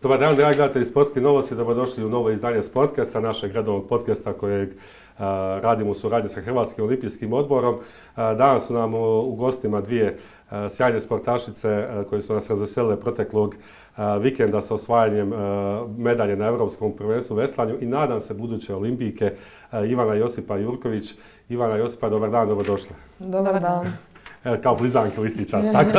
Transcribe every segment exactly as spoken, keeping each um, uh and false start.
Dobar dan, dragi gledatelji Sportski novosti, dobrodošli u novo izdanje Sportkasta, našeg redovnog podcasta kojeg uh, radimo u suradnji sa Hrvatskim olimpijskim odborom. Uh, danas su nam u, u gostima dvije uh, sjajne sportašice uh, koje su nas razveselile proteklog uh, vikenda sa osvajanjem uh, medalje na Europskom prvenstvu u veslanju i nadam se buduće olimpijke uh, Ivana i Josipa Jurković. Ivana i Josipa, dobar dan, dobrodošle. Dobar dan. Kao blizanke u isti čas, tako,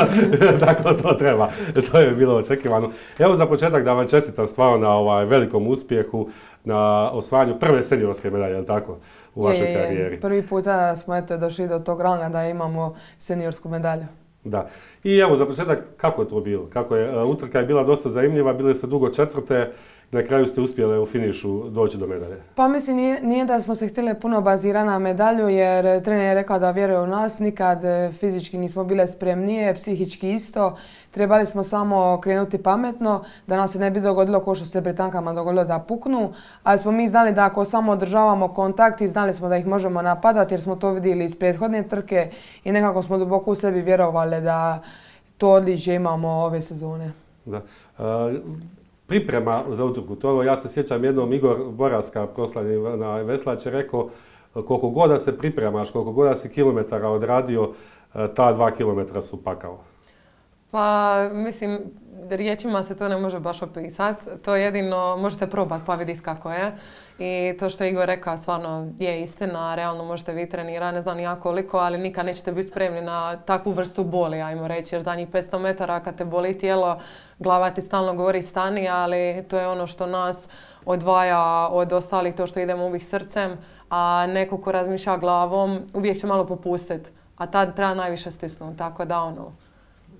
tako to treba, to je bilo očekivano. Evo za početak da vam čestitam stvarno na ovaj velikom uspjehu, na osvajanju prve seniorske medalje, je li tako, u vašoj je, karijeri? Je. Prvi puta smo eto došli do tog ranga da imamo seniorsku medalju. Da. I evo za početak, kako je to bilo? Kako je, utrka je bila dosta zanimljiva, bili ste dugo četvrte, na kraju ste uspjeli u finišu doći do medalje. Pa mislim, nije, nije da smo se htjeli puno bazirati na medalju, jer trener je rekao da vjeruje u nas, nikad fizički nismo bile spremnije, psihički isto. Trebali smo samo krenuti pametno, da nam se ne bi dogodilo kao što se Britankama dogodilo da puknu, ali smo mi znali da ako samo održavamo kontakt i znali smo da ih možemo napadati, jer smo to vidjeli iz prethodne trke i nekako smo duboko u sebi vjerovali da to odličje imamo ove sezone. Da. Uh, Priprema za utrku, to ja se sjećam jednom Igor Boraska, proslavni na veslač, je rekao koliko god da se pripremaš, koliko god da si kilometara odradio, ta dva kilometra su pakao. Pa mislim, riječima se to ne može baš opisati, to jedino možete probati pa vidjeti kako je. I to što je Igor rekao stvarno je istina, realno možete vi trenirati, ne znam ni ja koliko, ali nikad nećete biti spremni na takvu vrstu boli, ajmo reći, jer zadnjih petsto metara kad te boli tijelo, glava ti stalno govori stani, ali to je ono što nas odvaja od ostalih, to što idemo uvijek srcem, a neko ko razmišlja glavom uvijek će malo popustiti, a tad treba najviše stisnuti, tako da ono.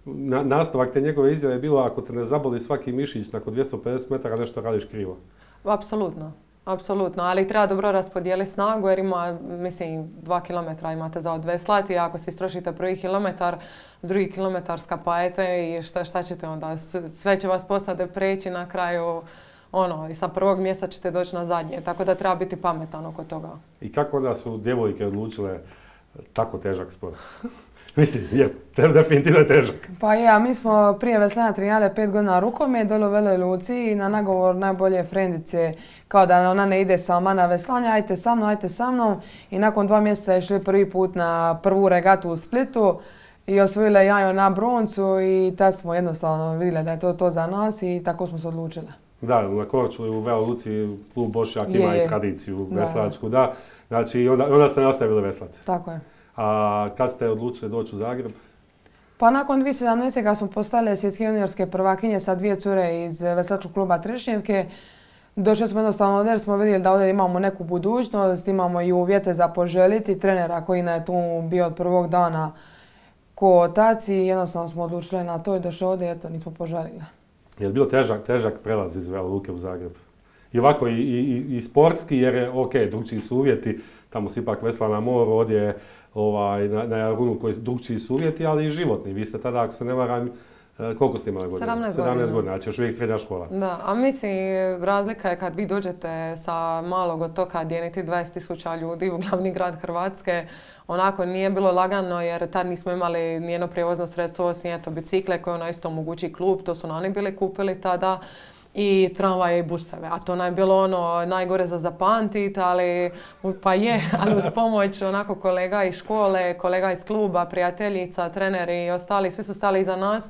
Na, nastavak te njegove izjave je bilo ako te ne zaboli svaki mišić nakon dvjesto pedeset metara nešto radiš krivo. Apsolutno. Apsolutno, ali treba dobro raspodijeliti snagu jer ima, mislim, dva kilometra imate za odveslati, a ako se istrošite prvi kilometar, drugi kilometar skapajete i šta, šta ćete onda? Sve će vas posade preći na kraju, ono, i sa prvog mjesta ćete doći na zadnje, tako da treba biti pametan oko toga. I kako onda su djevojke odlučile tako težak sport? Mislim, je definitivno težak. Pa ja, mi smo prije veslanja trenirali pet godina rukomet dole u Veloj Luci i na nagovor najbolje frendice, kao da ona ne ide sama na veslanje, ajte sa mnom, ajte sa mnom. I nakon dva mjeseca je šli prvi put na prvu regatu u Splitu i osvojile jajo na broncu i tad smo jednostavno vidjeli da je to to za nas i tako smo se odlučili. Da, na Korčuli u Veloj Luci klub Bošnjak ima i tradiciju veslačku, da. Znači, onda, onda ste nastavili veslati. Tako je. A kad ste odlučili doći u Zagreb? Pa nakon dvije tisuće sedamnaeste. kad smo postale svjetske juniorske prvakinje sa dvije cure iz veslačkog kluba Trešnjevke, došli smo jednostavno ovdje jer smo vidjeli da ovdje imamo neku budućnost, imamo i uvjete za poželiti, trenera koji je tu bio od prvog dana ko otac i jednostavno smo odlučili na to i došli ovdje i eto, nismo poželili. Je li bilo težak, težak prelaz iz Vele Luke u Zagreb? I ovako i, i, i sportski jer je ok, drugčiji su uvjeti, tamo se ipak vesla na moru, ovdje je ovaj, na, na Jarunu koji drugčiji su uvjeti, ali i životni. Vi ste tada, ako se ne varam, koliko ste imali godina? sedamnaest godina. sedamnaest godina, znači još uvijek srednja škola. Da, a mislim, razlika je kad vi dođete sa malog otoka gdje niti dvadeset tisuća ljudi u glavni grad Hrvatske, onako nije bilo lagano jer tad nismo imali nijedno prijevozno sredstvo osim eto bicikle koje ono isto omogući klub, to su oni bili kupili tada. I tramvaje i buseve, a to je bilo ono najgore za zapamtit, ali pa je, ali uz pomoć onako kolega iz škole, kolega iz kluba, prijateljica, treneri i ostali, svi su stali iza nas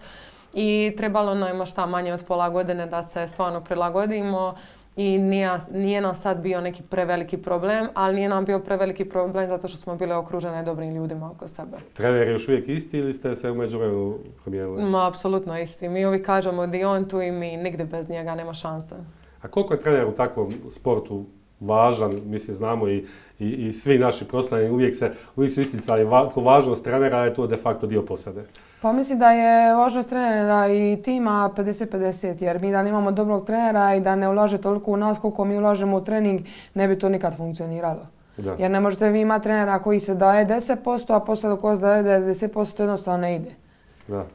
i trebalo nam ima šta manje od pola godine da se stvarno prilagodimo i nije, nije nam sad bio neki preveliki problem, ali nije nam bio preveliki problem zato što smo bile okružene dobrim ljudima oko sebe. Trener je još uvijek isti ili ste se u međuvremenu promijenili? Ma, apsolutno isti. Mi uvijek kažemo da je on tu i mi nigdje bez njega nema šanse. A koliko je trener u takvom sportu važan, mislim znamo i, i, i svi naši proslavljeni uvijek, se, uvijek su isticali va, ko važnost trenera je to de facto dio posade. Pa mislim da je važnost trenera i tima pedeset pedeset jer mi da nemamo dobrog trenera i da ne ulaže toliko u nas koliko mi ulažemo u trening ne bi to nikad funkcioniralo. Da. Jer ne možete vi imati trenera koji se daje deset posto, a poslije ko se daje devedeset posto to jednostavno ne ide. Da.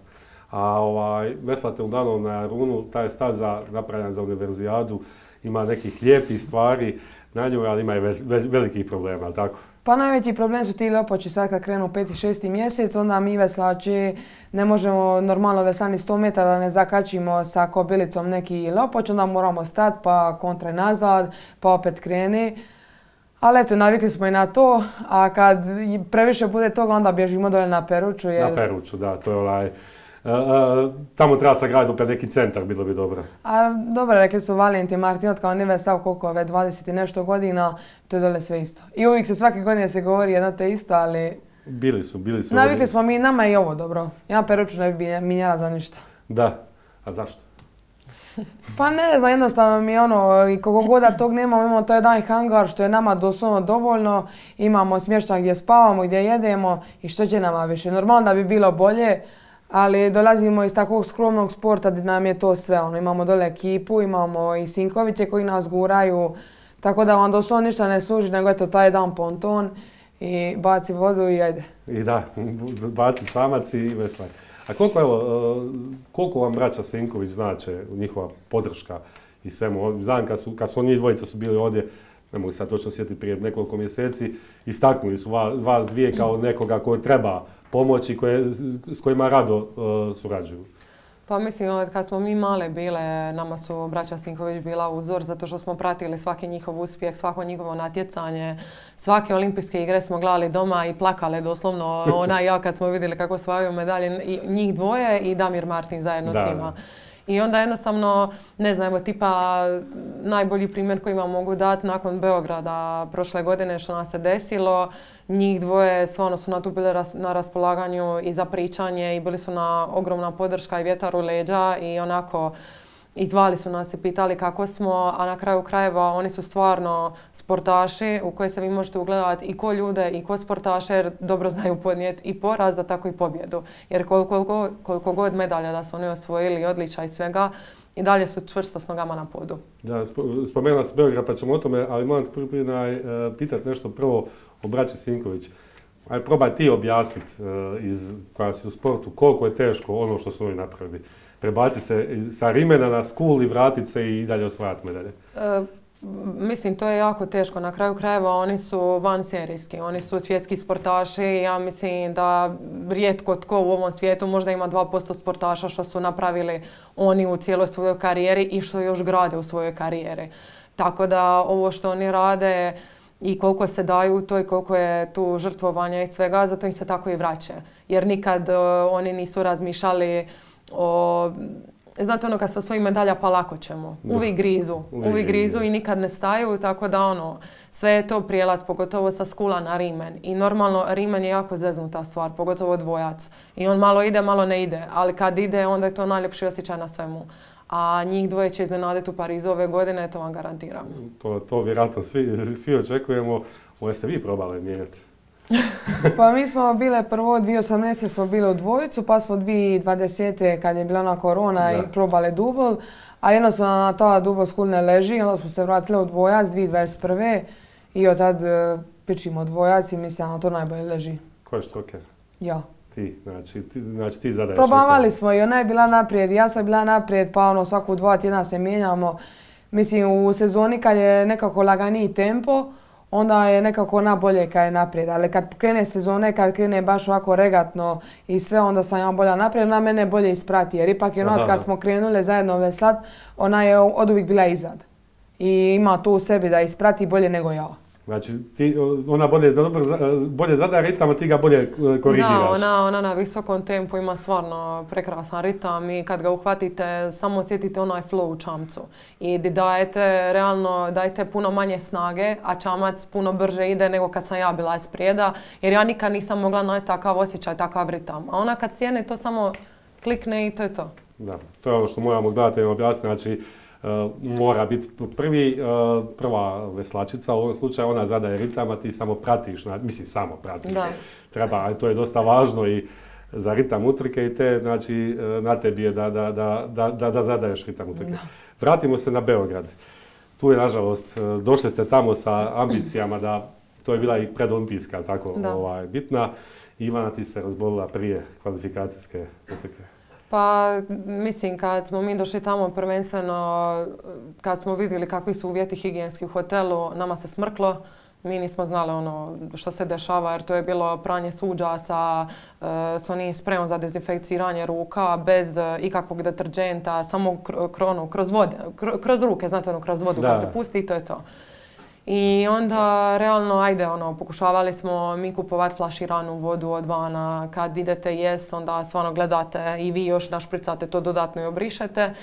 a ovaj, veslate uglavnom na Jarunu, ta je staza napravljena za univerzijadu, ima nekih lijepih stvari na njoj, ali ima i ve, ve, velikih problema, ali tako? Pa najveći problem su ti lopoči sad kad krenu peti, šesti mjesec, onda mi veslači ne možemo normalno veslani sto metara da ne zakačimo sa kobilicom neki lopoč, onda moramo stati pa kontra nazad, pa opet kreni. Ali eto, navikli smo i na to, a kad previše bude toga, onda bježimo dole na Peruču. Jer... Na Peruču, da, to je onaj... Uh, uh, tamo treba sagraditi opet neki centar, bilo bi dobro. A dobro, rekli su Valentin Martinot kao nije vesao koliko ove dvadeset i nešto godina, to je dole sve isto. I uvijek se svake godine se govori jedno te isto, ali... Bili su, bili su... Navikli oni... smo mi, nama i ovo dobro. Ja Peruču ne bi minjala za ništa. Da, a zašto? Pa ne znam, jednostavno mi je ono, i koliko god da tog nemamo, imamo to jedan hangar što je nama doslovno dovoljno, imamo smještaj gdje spavamo, gdje jedemo i što će nama više. Normalno da bi bilo bolje, ali dolazimo iz takvog skromnog sporta gdje nam je to sve. Ono, imamo dole ekipu, imamo i sinkoviće koji nas guraju, tako da vam doslovno ništa ne služi, nego eto taj jedan ponton i baci vodu i ajde. I da, baci čamac i veslaj. A koliko, evo, koliko vam braća Sinković znače, njihova podrška i svemu? Znam kad su, kad su njih dvojica su bili ovdje, ne mogu se sad točno sjetiti, prije nekoliko mjeseci, istaknuli su vas, vas dvije kao nekoga koji treba pomoći, koje, s kojima rado uh, surađuju. Pa mislim, kad smo mi male bile, nama su braća Sinković bila uzor zato što smo pratili svaki njihov uspjeh, svako njihovo natjecanje. Svake olimpijske igre smo gledali doma i plakale doslovno. Ona i ja kad smo vidjeli kako osvajaju medalje, i njih dvoje i Damir Martin zajedno da, s njima. I onda jednostavno, ne znam, evo tipa najbolji primjer koji vam mogu dati nakon Beograda prošle godine što nas se desilo, njih dvoje stvarno su na tu bile na raspolaganju i za pričanje i bili su na ogromna podrška i vjetar u leđa i onako izvali su nas i pitali kako smo, a na kraju krajeva oni su stvarno sportaši u koje se vi možete ugledati i ko ljude i ko sportaše jer dobro znaju podnijeti i poraz, da tako i pobjedu. Jer koliko, koliko, koliko god medalja da su oni osvojili, odličja i svega, i dalje su čvrsto s nogama na podu. Da, spomenula se Beograd pa ćemo o tome, ali moram te pitati nešto prvo o braći Sinković. Ajde, probaj ti objasniti iz koja si u sportu koliko je teško ono što su oni napravili. Prebaci se sa rimena na skul i vratit se i dalje osvajati medalje. E, mislim, to je jako teško. Na kraju krajeva oni su vanserijski, oni su svjetski sportaši. Ja mislim da rijetko tko u ovom svijetu možda ima dva posto sportaša što su napravili oni u cijeloj svojoj karijeri i što još grade u svojoj karijeri. Tako da ovo što oni rade i koliko se daju to i koliko je tu žrtvovanja i svega, zato im se tako i vraća. Jer nikad uh, oni nisu razmišljali o... Znate ono kad se osvoji medalja pa lako ćemo. Uvijek grizu. Uvijek grizu i nikad ne staju, tako da ono, sve je to prijelaz, pogotovo sa skula na rimen. I normalno rimen je jako zeznuta stvar, pogotovo dvojac. I on malo ide, malo ne ide, ali kad ide onda je to najljepši osjećaj na svemu. A njih dvoje će iznenaditi u Parizu ove godine, to vam garantiram. To, to vjerojatno svi, svi očekujemo. Ovo ste vi probali mijenjati? Pa mi smo bile prvo dvije tisuće osamnaeste smo bile u dvojicu, pa smo dvije tisuće dvadesete kad je bila ona korona da. I probale dubl. A jednostavno na ta dubl skul ne leži, onda smo se vratile u dvojac dvije tisuće dvadeset prve i od tad uh, pičimo dvojac i mislim da na to najbolje leži. Ko je štroker? Ja. Ti, znači ti, znači ti zadaješ. Probavali smo i ona je bila naprijed, ja sam bila naprijed, pa ono svaku dva tjedna se mijenjamo. Mislim u sezoni kad je nekako laganiji tempo, onda je nekako nabolje kad je naprijed, ali kad krene sezone, kad krene baš ovako regatno i sve, onda sam ja bolja naprijed, ona mene bolje isprati, jer ipak je ono kad smo krenule zajedno veslat, ona je od uvijek bila izad. I ima to u sebi da isprati bolje nego ja. Znači, ti, ona bolje, bolje zadaje ritam, a ti ga bolje korigiraš. Da, ona, ona na visokom tempu ima stvarno prekrasan ritam i kad ga uhvatite, samo osjetite onaj flow u čamcu. I dajete, realno, dajete puno manje snage, a čamac puno brže ide nego kad sam ja bila isprijeda, jer ja nikad nisam mogla naći takav osjećaj, takav ritam. A ona kad sjene, to samo klikne i to je to. Da, to je ono što moramo gledateljima objasniti. Znači, Uh, mora biti prvi, uh, prva veslačica, u ovom slučaju ona zadaje ritam, a ti samo pratiš, na, mislim samo pratiš, da. Treba, ali to je dosta važno i za ritam utrke i te, znači na tebi je da, da, da, da, da, da zadaješ ritam utrke. Da. Vratimo se na Beograd. Tu je, nažalost, došli ste tamo sa ambicijama da, to je bila i predolimpijska, tako, ovaj, bitna. Ivana, ti se razbolila prije kvalifikacijske utrke. Pa mislim kad smo mi došli tamo prvenstveno, kad smo vidjeli kakvi su uvjeti higijenski u hotelu, nama se smrklo. Mi nismo znali ono što se dešava jer to je bilo pranje suđa sa, uh, s onim sprejom za dezinfekciranje ruka bez uh, ikakvog deterđenta, samo kr ono, kroz, vode, kr kroz ruke, znate ono, kroz vodu kad se pusti i to je to. I onda realno, ajde, ono, pokušavali smo mi kupovati flaširanu vodu od vana. Kad idete jes, onda stvarno gledate i vi još našpricate to dodatno i obrišete.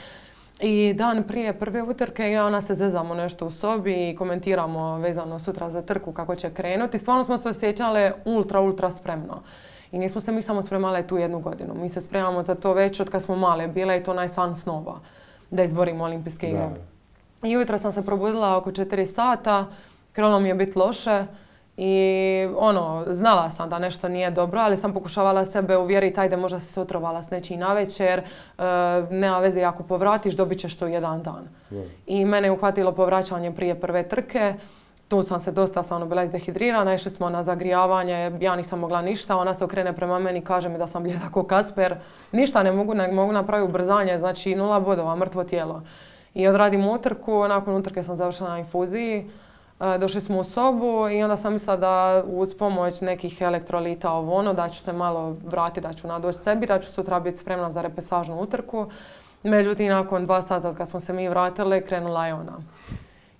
I dan prije prve utrke ja ona se zezamo nešto u sobi i komentiramo vezano sutra za trku kako će krenuti. Stvarno smo se osjećale ultra, ultra spremno. I nismo se mi samo spremale tu jednu godinu. Mi se spremamo za to već od kad smo male bile i to onaj san snova da izborimo olimpijske igre. I ujutro sam se probudila oko četiri sata, krenulo mi je biti loše i ono, znala sam da nešto nije dobro, ali sam pokušavala sebe uvjeriti, ajde možda si se otrovala s nečim navečer, e, nema veze ako povratiš, dobit ćeš to jedan dan. Yeah. I mene je uhvatilo povraćanje prije prve trke, tu sam se dosta stvarno bila izdehidrirana, išli smo na zagrijavanje, ja nisam mogla ništa, ona se okrene prema meni i kaže mi da sam blijeda ko Kasper, ništa ne mogu, ne mogu napraviti ubrzanje, znači nula bodova, mrtvo tijelo. I odradim utrku, nakon utrke sam završila na infuziji, došli smo u sobu i onda sam mislila da uz pomoć nekih elektrolita ovo ono, da ću se malo vratiti, da ću nadoći sebi, da ću sutra biti spremna za repesažnu utrku. Međutim, nakon dva sata kad smo se mi vratili, krenula je ona.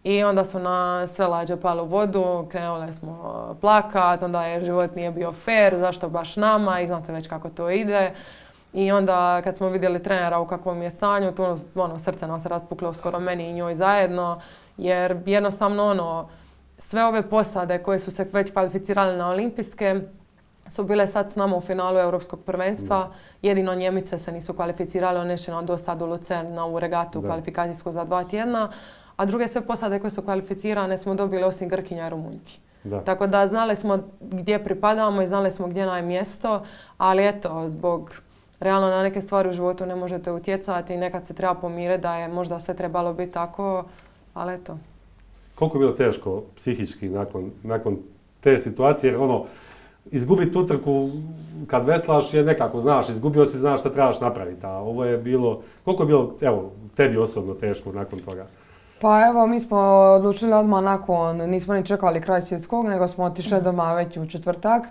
I onda su na sve lađe pale u vodu, krenule smo plakat, onda je život nije bio fair, zašto baš nama i znate već kako to ide. I onda kad smo vidjeli trenera u kakvom je stanju, tu ono, srce nam se raspuklo skoro meni i njoj zajedno, jer jednostavno ono, sve ove posade koje su se već kvalificirale na olimpijske su bile sad s nama u finalu Europskog prvenstva. Da. Jedino Njemice se nisu kvalificirale, one će nam dostati u Lucern na ovu regatu kvalifikacijsku za dva tjedna, a druge sve posade koje su kvalificirane smo dobili osim Grkinja i Rumunjki. Da. Tako da znali smo gdje pripadamo i znali smo gdje nam je mjesto, ali eto, zbog realno na neke stvari u životu ne možete utjecati i nekad se treba pomiriti da je možda sve trebalo biti tako, ali eto. Koliko je bilo teško psihički nakon, nakon te situacije, jer ono, izgubiti utrku kad veslaš je nekako, znaš, izgubio si, znaš šta trebaš napraviti, a ovo je bilo, koliko je bilo, evo, tebi osobno teško nakon toga? Pa evo, mi smo odlučili odmah nakon, nismo ni čekali kraj svjetskog, nego smo otišli doma već u četvrtak.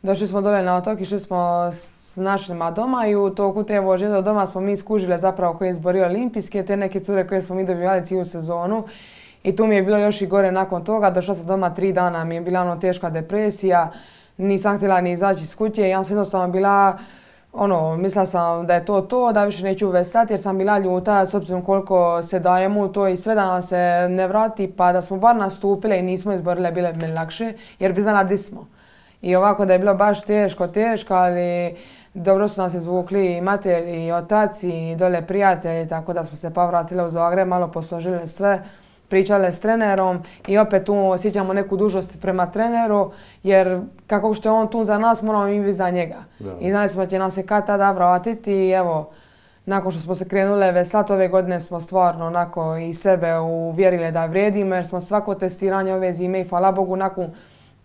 Došli smo dole na otok, išli smo s našima doma i u toku te vožnje do doma smo mi skužile zapravo koje je izborio olimpijske, te neke cure koje smo mi dobivali cijelu sezonu. I tu mi je bilo još i gore nakon toga, došla sam doma tri dana, mi je bila ono teška depresija, nisam htjela ni izaći iz kuće, ja sam jednostavno bila, ono, mislila sam da je to to, da više neću veslati jer sam bila ljuta s obzirom koliko se dajemo u to i sve da nam se ne vrati, pa da smo bar nastupile i nismo izborile, bile bi mi lakše jer bi znala di smo. I ovako da je bilo baš teško, teško, ali dobro su nas izvukli i mater i otac i dole prijatelji, tako da smo se pa vratile u Zagreb, malo posložile sve, pričale s trenerom i opet tu osjećamo neku dužnost prema treneru, jer kako što je on tu za nas, moramo i mi za njega. Da. I znali smo da će nas se kad tada vratiti i evo, nakon što smo se krenule veslati ove godine smo stvarno onako i sebe uvjerile da vrijedimo, jer smo svako testiranje ove zime i hvala Bogu nakon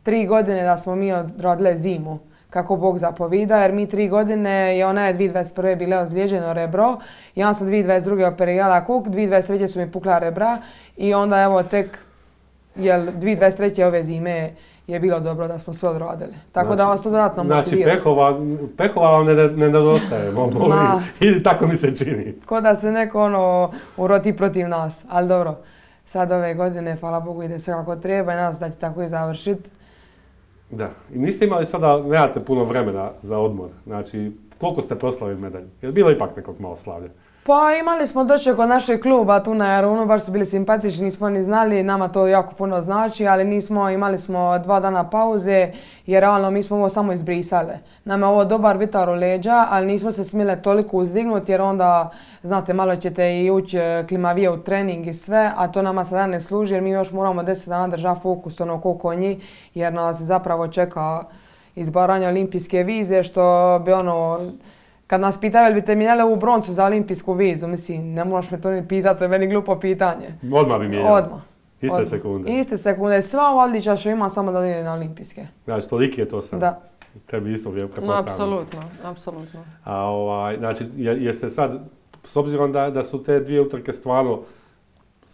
tri godine da smo mi odradile zimu kako Bog zapovida, jer mi tri godine i ona je dvije tisuće dvadeset prve bile ozlijeđeno rebro, ja sam dvije tisuće dvadeset druge operirala kuk, dvije tisuće dvadeset treće su mi pukla rebra i onda evo tek jel, dvije tisuće dvadeset treće ove zime je bilo dobro da smo sve odradili. Tako znači, da vas to dodatno motivira. Znači pehova, pehova vam ne, ne nedostaje, i tako mi se čini. Ko da se neko ono uroti protiv nas, ali dobro. Sad ove godine, hvala Bogu, ide sve kako treba i nas da će tako i završiti. Da, i niste imali sada, nemate puno vremena za odmor, znači koliko ste proslavili medalju? Je li bilo ipak nekog malo slavlja? Pa imali smo doček od našeg kluba tu na Jarunu, baš su bili simpatični, nismo ni znali, nama to jako puno znači, ali nismo, imali smo dva dana pauze jer realno mi smo ovo samo izbrisale. Nama je ovo dobar vitar u leđa, ali nismo se smjele toliko uzdignuti jer onda, znate, malo ćete i ući klimavije u trening i sve, a to nama sada ne služi jer mi još moramo deset dana držati fokus ono ko konji jer nas zapravo čeka izbaranje olimpijske vize što bi ono... Kad nas pitaju jel biste mijenjali ovu broncu za olimpijsku vizu, mislim, ne moraš me to ni pitati, to je meni glupo pitanje. Odmah bi mijenjali? Odmah. Iste Odmah. sekunde? Ide sekunde. Sva ova odličja što ima samo da ide na olimpijske. Znači, toliki je to sam? Da. Tebi isto vjerujem, No, apsolutno, apsolutno. A ovaj, znači, jeste sad, s obzirom da, da su te dvije utrke stvarno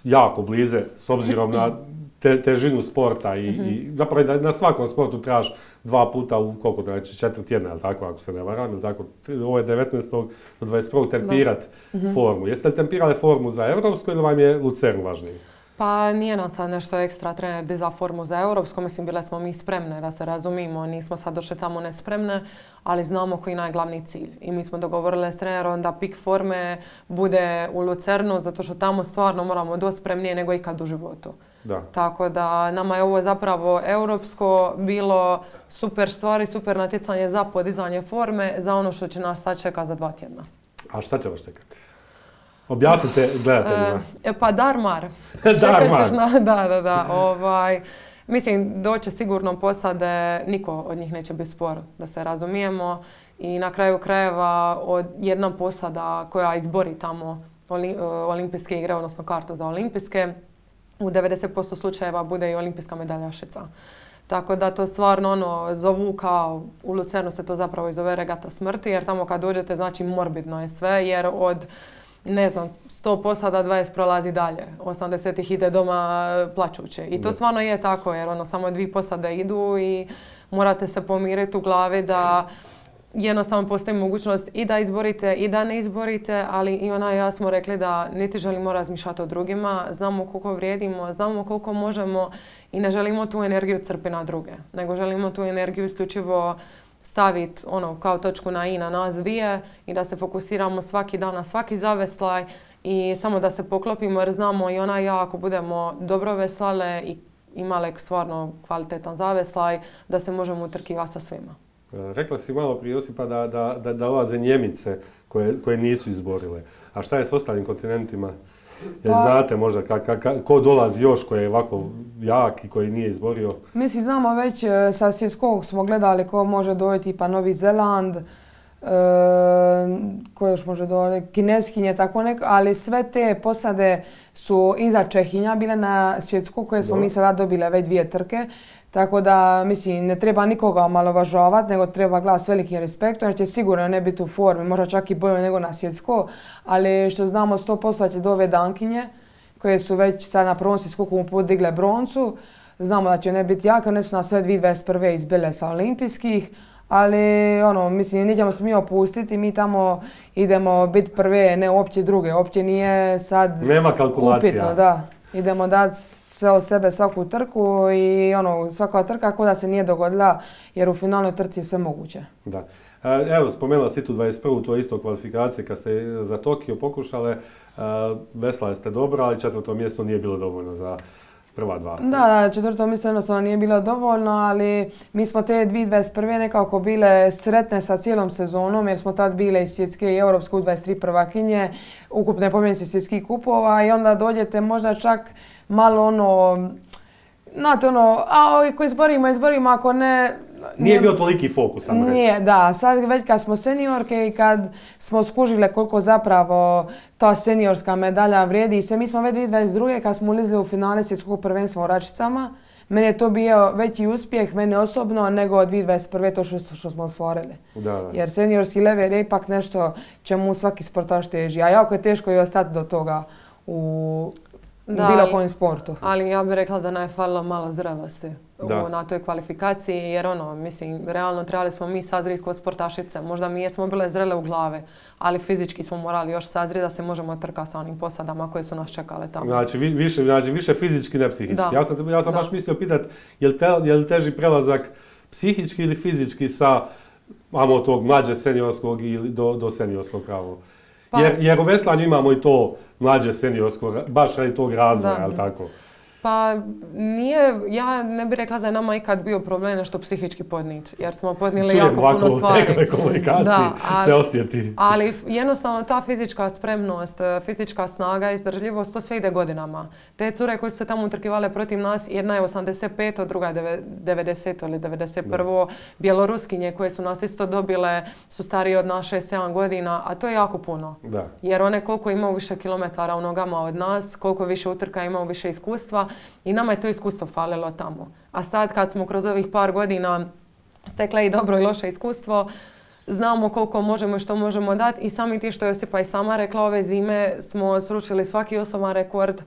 jako blize, s obzirom na te, težinu sporta i, mm-hmm. i zapravo da na svakom sportu trebaš dva puta u koliko, znači četiri tjedna, ili tako, ako se ne varam, ili tako, ovo je devetnaestog do dvadeset prvog tempirat mm-hmm. formu. Jeste li tempirali formu za europsku ili vam je Lucern važniji? Pa nije nam sad nešto ekstra trener dizao formu za europsko, mislim bile smo mi spremne da se razumimo, nismo sad došle tamo nespremne, ali znamo koji je najglavni cilj. I mi smo dogovorili s trenerom da pik forme bude u Lucernu, zato što tamo stvarno moramo doći spremnije nego ikad u životu. Da. Tako da nama je ovo zapravo europsko bilo super stvari, super natjecanje za podizanje forme, za ono što će nas sad čeka za dva tjedna. A šta će vas čekati? Objasnite gledateljima. E, pa Darmar. Darmar. Na, da, da, da. Ovaj, mislim, doće sigurno posade, niko od njih neće biti spor, da se razumijemo. I na kraju krajeva od jedna posada koja izbori tamo oli, olimpijske igre, odnosno kartu za olimpijske, u devedeset posto slučajeva bude i olimpijska medaljašica. Tako da to stvarno ono, zovu kao, u Lucernu se to zapravo i zove regata smrti, jer tamo kad dođete znači morbidno je sve, jer od ne znam, sto posada, dvadeset prolazi dalje. osamdeset ih ide doma plačuće. I to stvarno je tako, jer ono, samo dvije posade idu i morate se pomiriti u glavi da jednostavno postoji mogućnost i da izborite i da ne izborite, ali i ona i ja smo rekli da niti želimo razmišljati o drugima, znamo koliko vrijedimo, znamo koliko možemo i ne želimo tu energiju crpiti na druge, nego želimo tu energiju isključivo staviti ono, kao točku na i na nas dvije i da se fokusiramo svaki dan na svaki zaveslaj i samo da se poklopimo jer znamo i ona i ja ako budemo dobro veslale i imale stvarno kvalitetan zaveslaj da se možemo utrkivati sa svima. Rekla si malo prije Josipa da, da, da dolaze Njemice koje, koje nisu izborile. A šta je s ostalim kontinentima? Jer pa, znate možda ka, ka, ka, ko dolazi još koji je ovako jak i koji nije izborio? Mislim, znamo već sa svjetskog smo gledali ko može dojeti, pa Novi Zeland, e, ko još može dojeti, Kineskinje, tako neko, ali sve te posade su iza Čehinja bile na svjetskog koje smo Do. mi sada dobile već dvije trke. Tako da, mislim, ne treba nikoga omalovažavati, nego treba gledati s velikim respektom, jer će sigurno ne biti u formi, možda čak i bolje nego na svjetsko, ali što znamo sto posto će do ove Dankinje, koje su već sad na prvom svjetskokom put digle broncu, znamo da će ne biti jaka, one su nas sve dvije tisuće dvadeset prve izbile sa olimpijskih, ali ono, mislim, nećemo se mi opustiti, mi tamo idemo biti prve, ne uopće druge, uopće nije sad Nema kalkulacija. upitno, da, idemo dati sve od sebe svaku trku i ono, svaka trka kao da se nije dogodila jer u finalnoj trci je sve moguće. Da. Evo, spomenula si tu dvadeset prvu, to je isto kvalifikacije kad ste za Tokio pokušale. Veslali ste dobro, ali četvrto mjesto nije bilo dovoljno za prva dva. Da, da, četvrto mjesto jednostavno nije bilo dovoljno, ali mi smo te dvije tisuće dvadeset prve nekako bile sretne sa cijelom sezonom jer smo tad bile i svjetske i europske u dvadeset tri prvakinje, ukupne pobjednice svjetskih kupova i onda dođete možda čak malo ono, znate ono, a ako izborimo, izborimo, ako ne... Nije bio toliki fokus, samo reći. Nije, da. Sad već kad smo seniorke i kad smo skužile koliko zapravo ta seniorska medalja vrijedi i sve, mi smo već dvije tisuće dvadeset druge kad smo ulizili u finale svjetskog prvenstva u Račicama. Meni je to bio veći uspjeh, mene osobno, nego dvije tisuće dvadeset prve to što, što smo ostvarili. Da, da. Jer seniorski level je ipak nešto čemu svaki sportaš teži, a jako je teško i ostati do toga u... Da, bilo kojem sportu. Ali ja bih rekla da nam je falilo malo zrelosti u, na toj kvalifikaciji, jer ono, mislim, realno trebali smo mi sazriti kod sportašice. Možda mi jesmo bile zrele u glave, ali fizički smo morali još sazriti da se možemo trkati sa onim posadama koje su nas čekale tamo. Znači, više, znači više fizički, ne psihički. Da. Ja sam, ja sam baš mislio pitati, je li, te, je li teži prelazak psihički ili fizički sa amo tog mlađe seniorskog ili do, do seniorskog pravo? Pa, jer, jer u veslanju imamo i to mlađe seniorsko, baš radi tog razvoja, ali tako? Pa nije, ja ne bih rekla da je nama ikad bio problem nešto psihički podnijeti, jer smo podnijeli Čujem jako ovako, puno stvari. Čujem ovako u komunikaciji, da, ali, se osjeti. Ali jednostavno ta fizička spremnost, fizička snaga, izdržljivost, to sve ide godinama. Te cure koje su se tamo utrkivale protiv nas, jedna je osamdeset pet, druga je devedeset ili devedeset prvo. Bjeloruskinje koje su nas isto dobile su starije od nas šest sedam godina, a to je jako puno. Da. Jer one koliko imaju više kilometara u nogama od nas, koliko više utrka imaju više iskustva, i nama je to iskustvo falilo tamo. A sad kad smo kroz ovih par godina stekle i dobro i loše iskustvo. Znamo koliko možemo i što možemo dati i sami ti što je Josipa i sama rekla, ove zime smo srušili svaki osoban rekord.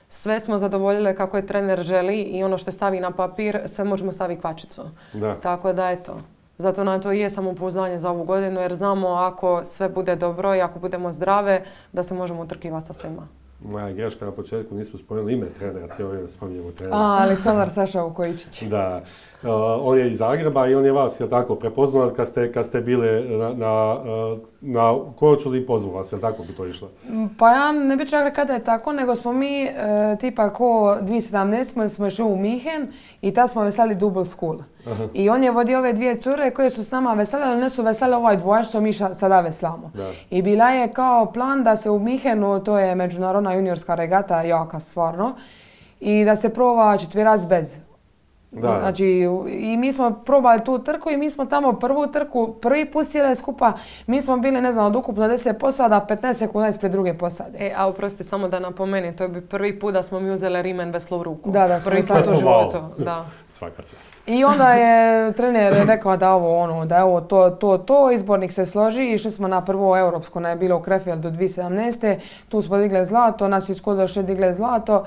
Sve smo zadovoljile kako je trener želi i ono što stavi na papir, sve možemo staviti kvačicu. Da. Tako da eto, zato nam to i je samopouzdanje za ovu godinu jer znamo ako sve bude dobro i ako budemo zdrave, da se možemo utrkivati sa svima. Moja greška na početku, nismo spomenuli ime trenera, cijelo vrijeme spominjemo trenera. A, Aleksandar Saša Vukojičić. Da. Uh, on je iz Zagreba i on je vas, jel tako, prepoznao kad ste, kad ste bile na, na, na Korčuli i pozvao vas, jel tako bi to išlo? Pa ja ne bi čak rekao da je tako, nego smo mi e, tipa ko dvije tisuće sedamnaeste smo, smo išli u Minhen i tad smo veslali double school. Aha. I on je vodio ove dvije cure koje su s nama vesele, ali ne su vesele ovaj dvojač što mi ša, sada veslamo. Da. I bila je kao plan da se u Minhenu, to je međunarodna juniorska regata, jaka stvarno, i da se proba četverac bez. Da. Znači, i mi smo probali tu trku i mi smo tamo prvu trku, prvi put sjeli skupa, mi smo bili, ne znam, od ukupno deset posada, petnaest sekunda ispred druge posade. E, a oprosti, samo da napomenem, to je bi prvi put da smo mi uzeli rimen veslo u ruku. Da, da, smo prvi put u životu, da. Svaka čast. I onda je trener rekao da ovo ono, da je ovo to, to, to, izbornik se složi, išli smo na prvo europsko, ne je bilo u Krefeldu dvije tisuće sedamnaeste. Tu smo digli zlato, nas iz Kodoše digli zlato.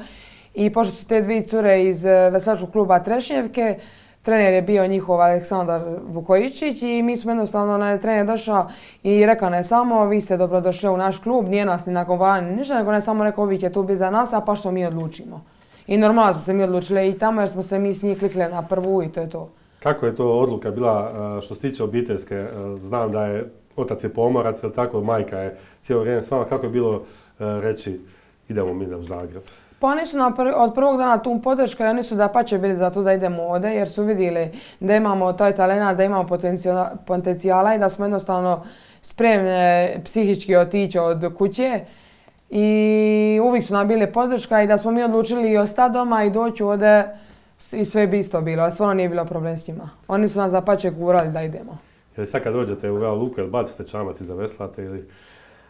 I pošto su te dvije cure iz veslačkog kluba Trešnjevke, trener je bio njihov Aleksandar Vukojičić i mi smo jednostavno, na trener došao i rekao ne samo vi ste dobrodošli u naš klub, nije nas ni nagovarali ništa, nego ne samo rekao vi će tu biti za nas, a pa što mi odlučimo. I normalno smo se mi odlučili i tamo jer smo se mi s njih klikli na prvu i to je to. Kako je to odluka bila što se tiče obiteljske? Znam da je otac je pomorac, ali tako majka je cijelo vrijeme s vama. Kako je bilo reći idemo mi u Zagreb? Pa oni su na prvi, od prvog dana tu podrška i oni su da pače bili za to da idemo ovdje jer su vidjeli da imamo taj talent, da imamo potencijala i da smo jednostavno spremne psihički otići od kuće. I uvijek su nam bili podrška i da smo mi odlučili i ostati doma i doći ovdje i sve bi isto bilo, a stvarno nije bilo problem s njima. Oni su nas da pače gurali da idemo. Jel sad kad dođete u Vela Luku, jel bacite čamac i zaveslate ili...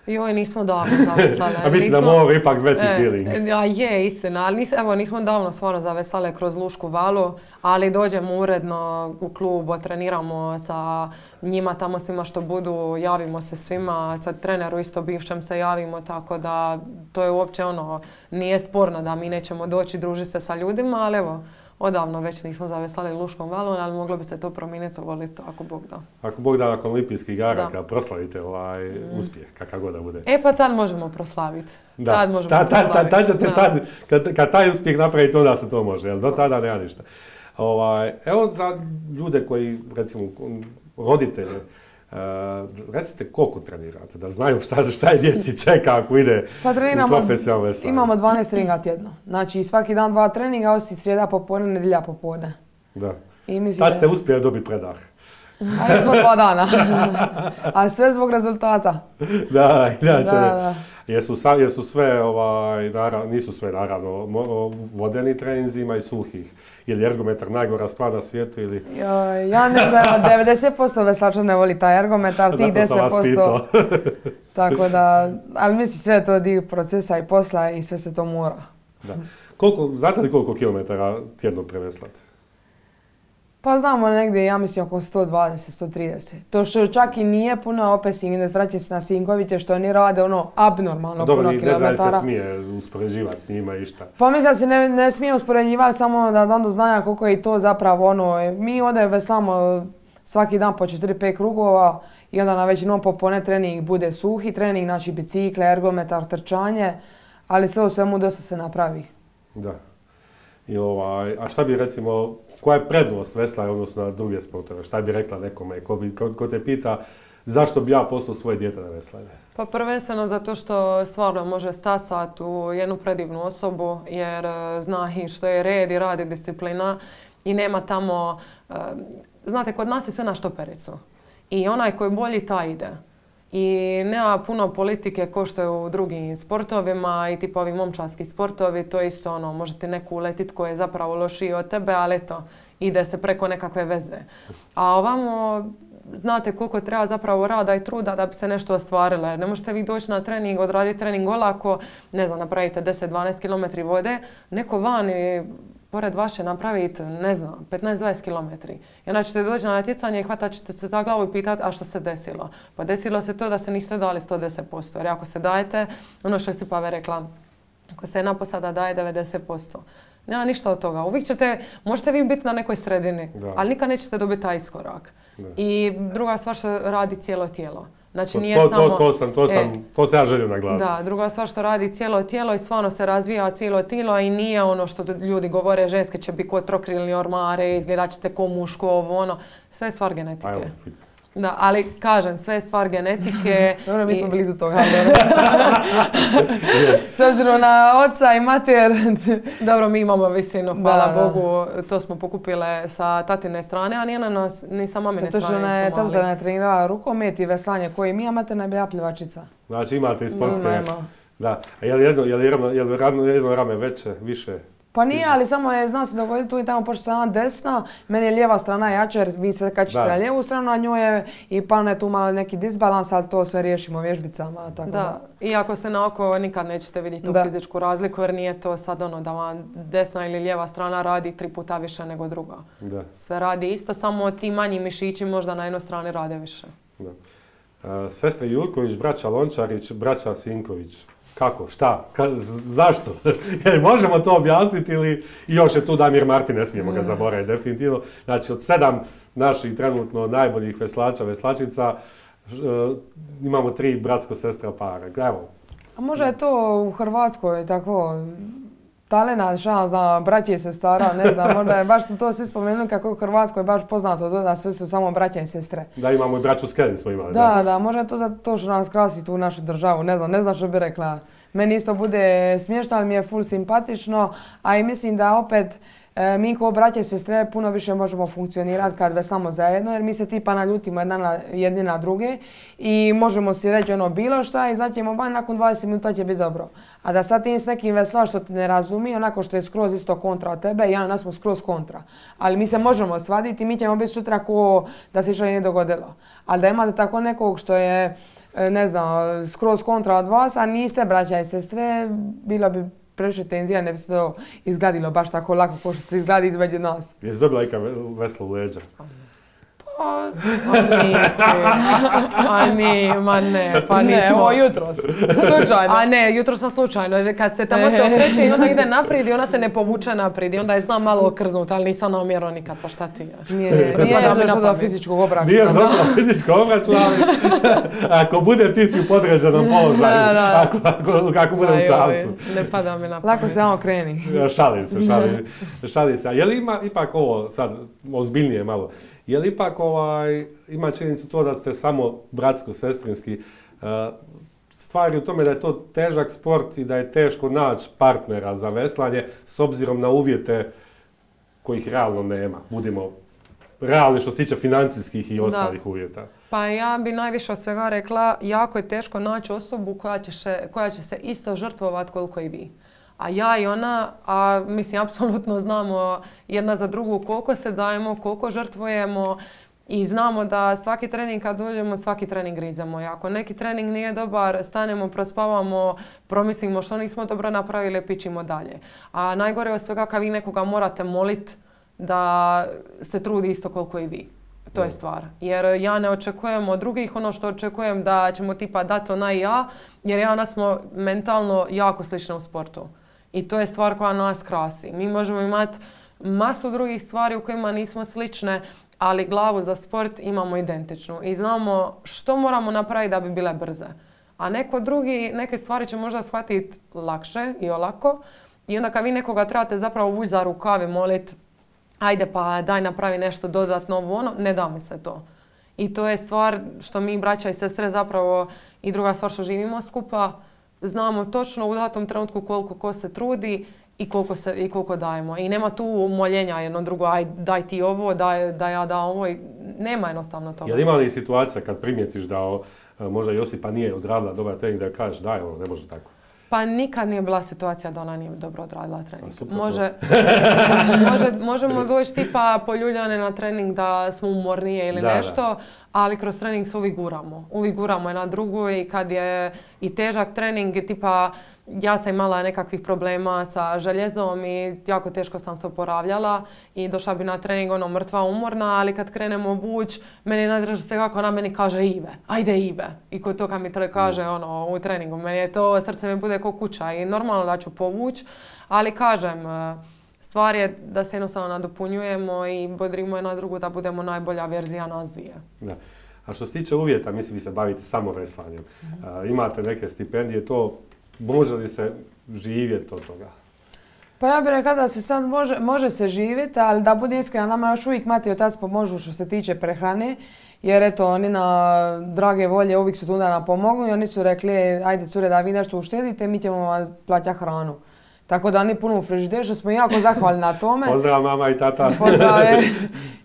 Joj, nismo davno zaveslale. A mislim da mora ipak veći e, feeling. Ja, je, istina, ali nis, evo, nismo davno stvarno zaveslale kroz Lušku valu, ali dođemo uredno u klub, treniramo sa njima tamo svima što budu, javimo se svima, sad treneru isto bivšem se javimo, tako da to je uopće ono, nije sporno da mi nećemo doći družiti se sa ljudima, ali evo, odavno već nismo zaveslali Luškom valom, ali moglo bi se to promijeniti, voliti ako Bog da. Ako Bog da nakon olimpijskih igara, kad proslavite ovaj mm. uspjeh, kakav god da bude. E pa tad možemo proslaviti. Da. Tad možemo ta, ta, proslaviti. Tad ćete, tad, kad, kad taj uspjeh napravite, onda se to može, jel? Do tada nema ništa. Ovaj, evo za ljude koji, recimo, roditelje, Uh, recite koliko trenirate, da znaju šta, šta je djeci čeka ako ide pa treniramo, u profesionalno veslanje. Imamo dvanaest treninga tjedno. Znači svaki dan dva treninga, osim srijeda popodne, nedjelja popodne. Da. Tad ste uspjeli dobiti predah. A jesmo dva dana. A sve zbog rezultata. Da, inače. Da, da. Jesu, jesu sve, ovaj, narav, nisu sve naravno, vodeni treninzi, ima i suhih. Je li ergometar najgora stvar na svijetu ili... Joj, ja ne znam, devedeset posto veslača ne voli taj ergometar, tih deset posto... Tako da, ali mislim sve to dio procesa i posla i sve se to mora. Da. Koliko, znate li koliko kilometara tjedno preveslate? Pa znamo negdje, ja mislim, oko sto dvadeset do sto trideset. To što čak i nije puno, opet si ne vraća se na Sinkoviće, što oni rade ono abnormalno dobro, puno kilometara. Dobro, ne znam se smije uspoređivati s njima i šta. Pa mislim da se ne, ne smije uspoređivati, samo da dam do znanja koliko je to zapravo ono. Mi ovdje veslamo svaki dan po četiri pet krugova i onda na većinom popodne trening bude suhi trening, znači bicikle, ergometar, trčanje, ali sve u svemu dosta se napravi. Da. I ovaj, a šta bi recimo, koja je prednost veslanja odnosno na druge sportove? Šta bi rekla nekome ko, bi, ko, ko te pita zašto bi ja poslao svoje dijete na veslanje? Pa prvenstveno zato što stvarno može stasati u jednu predivnu osobu jer zna i što je red i radi disciplina i nema tamo, znate, kod nas je sve na štopericu i onaj koji bolji taj ide. I nema puno politike ko što je u drugim sportovima i tipa ovi momčarski sportovi, to je isto ono, može ti neku uletit koji je zapravo lošiji od tebe, ali eto, ide se preko nekakve veze. A ovamo, znate koliko treba zapravo rada i truda da bi se nešto ostvarilo, jer ne možete vi doći na trening, odraditi trening olako, ne znam, napravite deset do dvanaest kilometara vode, neko vani pored vaše napraviti, ne znam, petnaest do dvadeset kilometri. I onda ćete doći na natjecanje i hvatat ćete se za glavu i pitati, a što se desilo? Pa desilo se to da se niste dali sto deset posto. Jer ako se dajete, ono što je Stipave rekla, ako se jedna posada daje devedeset posto. Nema ništa od toga. Uvijek ćete, možete vi biti na nekoj sredini, da. Ali nikad nećete dobiti taj iskorak. Da. I druga stvar što radi cijelo tijelo. Znači nije to, samo... To, to, sam, to, sam, e, to sam ja želio naglasiti. Da, druga stvar što radi cijelo tijelo i stvarno se razvija cijelo tijelo i nije ono što ljudi govore, ženske će biti ko trokrilni ormare, izgledat ćete ko muško, ovo ono. Sve je stvar genetike. Ajmo, da, ali kažem, sve je stvar genetike. Dobro, mi smo i... blizu toga. S obzirom na oca i mater. Dobro, mi imamo visinu, hvala da, Bogu. To smo pokupile sa tatine strane, a nije na nas, ni sa mamine strane. To što ona je tata trenirala rukomet i veslanje koji mi, a mater je bila plivačica. Znači imate i sportske. Da. A je li jedno, je li jedno, je li jedno, jedno rame veće, više? Pa nije, ali samo je, zna se dogoditi tu i tamo, pošto sama desna, meni je lijeva strana jača jer vi se kačite na lijevu stranu, a njoj je i palno je tu malo neki disbalans, ali to sve riješimo vježbicama. Tako da. Da. I ako se na oko nikad nećete vidjeti tu da. fizičku razliku jer nije to sad ono da vam desna ili lijeva strana radi tri puta više nego druga. Da. Sve radi isto, samo ti manji mišići možda na jednoj strani rade više. Da. Uh, sestre Jurković, braća Lončarić, braća Sinković. Kako? Šta? Ka, zašto? Jer možemo to objasniti ili još je tu Damir Martin, ne smijemo ga zaboraviti definitivno. Znači od sedam naših trenutno najboljih veslača, veslačica, uh, imamo tri bratsko-sestra para. Evo. A možda je to u Hrvatskoj tako talena, šans za braće i sestara, ne znam, možda je, baš su to svi spomenuli kako je u Hrvatskoj baš poznato to da sve su samo braća i sestre. Da, imamo i braću Skelin smo imali. Da, da, da, možda je to za to što nas krasi tu našu državu, ne znam, ne znam što bi rekla. Meni isto bude smiješno, ali mi je full simpatično, a i mislim da opet e, mi kao braće i sestre puno više možemo funkcionirati kad veslamo zajedno, jer mi se tipa naljutimo jedna na, jedni na druge i možemo si reći ono bilo šta i znaćemo ba nakon dvadeset minuta će biti dobro. A da sad ti s nekim veslaš što te ne razumi, onako što je skroz isto kontra od tebe, ja nas smo skroz kontra. Ali mi se možemo svaditi i mi ćemo biti sutra ko da se što nije dogodilo. Ali da imate tako nekog što je, ne znam, skroz kontra od vas, a niste braća i sestre, bilo bi previše tenzija, ne bi se to izgladilo baš tako lako kao što se izgladi između nas. Jesi dobila ikad veslo u leđa? Pa, a nisi. A ni, ma ne, pa nismo. Ne, ovo jutros. Slučajno. A ne, jutros sam slučajno. Kad se tamo se okreće i onda ide naprijed i ona se ne povuče naprijed i onda je znam malo okrznuti, ali nisam namjerno nikad, pa šta ti je? Nije, nije još došlo do fizičkog obračuna. Nije još došlo do fizičkog obračuna, ali ako bude ti si u podređenom položaju, ako, ako, ako bude u čavcu. Ne pada mi na pamet. Lako se samo kreni. Šalim se, šalim, šalim se. A je li ima ipak ovo sad ozbiljnije malo? Je li ipak ovaj, ima činjenicu to da ste samo bratsko-sestrinski? Uh, stvar je u tome da je to težak sport i da je teško naći partnera za veslanje s obzirom na uvjete kojih realno nema. Budimo realni što se tiče financijskih i ostalih da. uvjeta. Pa ja bi najviše od svega rekla, jako je teško naći osobu koja će, še, koja će se isto žrtvovati koliko i vi. A ja i ona, a mislim, apsolutno znamo jedna za drugu koliko se dajemo, koliko žrtvujemo i znamo da svaki trening kad dođemo, svaki trening grizemo. I ako neki trening nije dobar, stanemo, prospavamo, promislimo što nismo dobro napravili, pićimo dalje. A najgore od svega kad vi nekoga morate moliti da se trudi isto koliko i vi. To je stvar. Jer ja ne očekujem od drugih ono što očekujem da ćemo tipa dati ona i ja, jer ja ona smo mentalno jako slične u sportu. I to je stvar koja nas krasi. Mi možemo imati masu drugih stvari u kojima nismo slične, ali glavu za sport imamo identičnu. I znamo što moramo napraviti da bi bile brze. A neko drugi, neke stvari će možda shvatiti lakše i olako. I onda kad vi nekoga trebate zapravo vući za rukav i moliti ajde pa daj napravi nešto dodatno ovo ono, ne da mi se to. I to je stvar što mi braća i sestre zapravo i druga stvar što živimo skupa, znamo točno u datom trenutku koliko ko se trudi i koliko, se, i koliko dajemo. I nema tu moljenja jedno drugo, aj daj ti ovo, daj, da ja dam ovo. Nema jednostavno toga. Je li ima li situacija kad primijetiš da o, možda Josipa nije odradila dobar trening da kažeš daj ovo, ne može tako? Pa nikad nije bila situacija da ona nije dobro odradila trening. Može, može, možemo doći tipa poljuljane na trening da smo umornije ili da, nešto, da. Ali kroz trening se uvijek guramo. Uvijek guramo jedna drugu i kad je i težak trening, tipa ja sam imala nekakvih problema sa željezom i jako teško sam se oporavljala i došla bi na trening ono mrtva umorna, ali kad krenemo vuć, meni je najdraže se kako ona meni kaže Ive, ajde Ive. I kod toga mi kaže ono u treningu, meni je to, srce mi bude kao kuća i normalno da ću povuć, ali kažem, stvar je da se jednostavno nadopunjujemo i bodrimo jedna drugu da budemo najbolja verzija nas dvije. Da. A što se tiče uvjeta, mislim vi se bavite samo veslanjem. Mm-hmm. Imate neke stipendije, to može li se živjeti od toga? Pa ja bih rekla da se sad može, može se živjeti, ali da bude iskrena, nama još uvijek mati i otac pomožu što se tiče prehrane. Jer eto, oni na drage volje uvijek su tu da nam pomognu i oni su rekli, ajde cure da vi nešto uštedite, mi ćemo vam plaćati hranu. Tako da oni puno u frižideru, što smo jako zahvalni na tome. Pozdrav mama i tata. Pozdrav,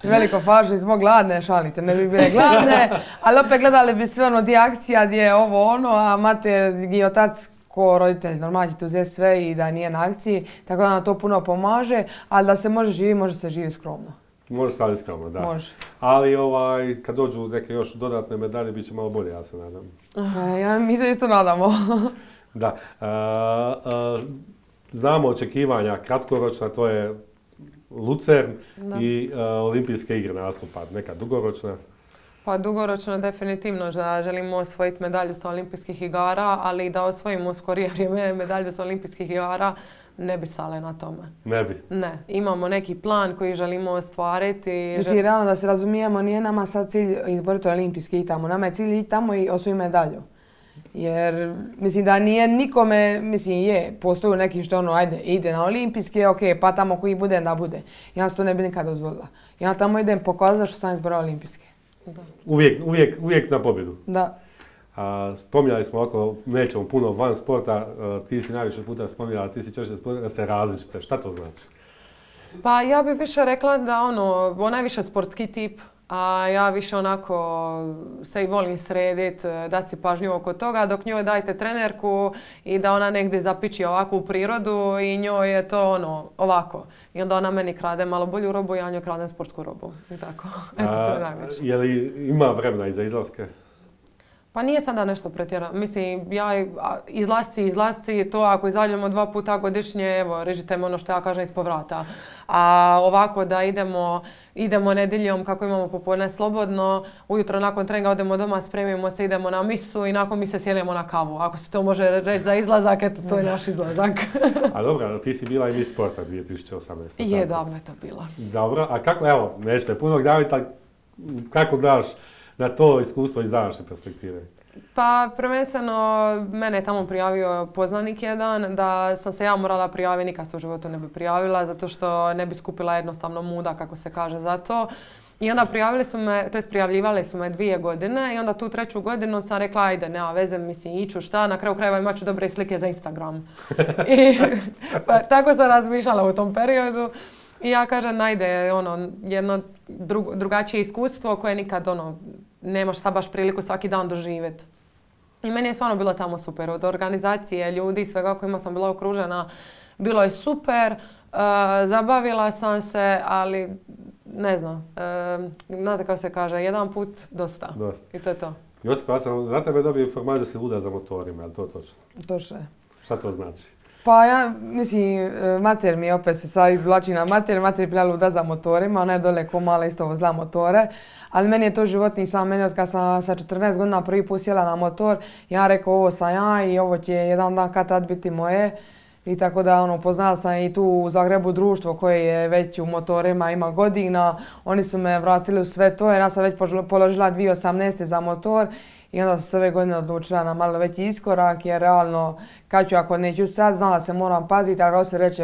veliko pažnje, smo gladne, šalice, ne bi bile gladne, ali opet gledali bi sve ono di akcija, di je ovo ono, a mater i otac ko roditelj normalno će tu uzeti sve i da nije na akciji, tako da nam to puno pomaže, ali da se može živjeti, može se živjeti skromno. Može se ali skromno, da. Može. Ali ovaj, kad dođu neke još dodatne medalje, bit će malo bolje, ja se nadam. Ja, mi se isto nadamo. Da. A, a, znamo očekivanja kratkoročna, to je Lucern da. i a, olimpijske igre nastupa, neka dugoročna. Pa dugoročno definitivno da želimo osvojiti medalju sa olimpijskih igara, ali da osvojimo u skorije vrijeme medalju sa olimpijskih igara ne bi stale na tome. Ne bi? Ne. Imamo neki plan koji želimo ostvariti. Mislim, realno da se razumijemo, nije nama sad cilj izboriti olimpijski i tamo. Nama je cilj ići tamo i osvojiti medalju. Jer mislim da nije nikome, mislim je, postoju neki što ono, ajde, ide na olimpijske, ok, pa tamo koji bude, da bude. Ja se to ne bi nikad dozvolila. Ja tamo idem pokazati što sam izborila olimpijske. Da. Uvijek, uvijek, uvijek na pobjedu. Da. A, spominjali smo oko, nećemo puno van sporta, a, ti si najviše puta spominjala, ti si češće sporta da se različite. Šta to znači? Pa ja bih više rekla da ono, ona je više sportski tip, a ja više onako se i volim sredit, dati si pažnju oko toga, dok njoj dajte trenerku i da ona negdje zapiči ovako u prirodu i njoj je to ono, ovako. I onda ona meni krade malo bolju robu, ja njoj kradem sportsku robu. I tako. Eto, to je najveće. Je li ima vremena i za izlaske? Pa nije sada nešto pretjerano. Mislim, ja izlasci, izlasci, to ako izađemo dva puta godišnje, evo, režite me ono što ja kažem ispod vrata. A ovako da idemo, idemo nedjeljom kako imamo popodne slobodno, ujutro nakon treninga odemo doma, spremimo se, idemo na misu i nakon mise sjedemo na kavu. Ako se to može reći za izlazak, eto, to je naš izlazak. A dobro, ti si bila i Miss Sporta dvije tisuće osamnaeste. Je, davno je to bila. Dobro, a kako, evo, nećete puno daviti, ali kako daš na to iskustvo iz današnje perspektive? Pa prvenstveno mene je tamo prijavio poznanik jedan, da sam se ja morala prijaviti, nikad se u životu ne bi prijavila, zato što ne bi skupila jednostavno muda, kako se kaže, za to. I onda prijavili su me, to jest prijavljivali su me dvije godine i onda tu treću godinu sam rekla ajde, nema veze, mislim, iću šta, na kraju krajeva imat ću dobre slike za Instagram. I pa, tako sam razmišljala u tom periodu. I ja kažem, ajde, ono, jedno dru, drugačije iskustvo koje nikad, ono, nemaš šta baš priliku svaki dan doživjeti. I meni je stvarno bilo tamo super. Od organizacije, ljudi, svega kojima sam bila okružena, bilo je super. Uh, zabavila sam se, ali ne znam, uh, znate kako se kaže, jedan put dosta. Dosta. I to je to. Josip, ja sam za tebe dobio informaciju da si luda za motorima, je li to točno? Točno je. Šta to znači? Pa ja, mislim, mater mi opet se sad izvlači na mater, mater je bila luda za motorima, ona je dole ko mala isto vozila motore, ali meni je to životni sam, meni od kad sam sa četrnaest godina prvi put sjela na motor, ja rekao ovo sam ja i ovo će jedan dan kad tad biti moje. I tako da ono, poznala sam i tu u Zagrebu društvo koje je već u motorima, ima godina, oni su me vratili u sve to jer ja sam već položila dvije tisuće osamnaeste za motor. I onda sam se ove godine odlučila na malo veći iskorak jer realno kad ću ako neću sad, znam da se moram paziti, ali kako se reče,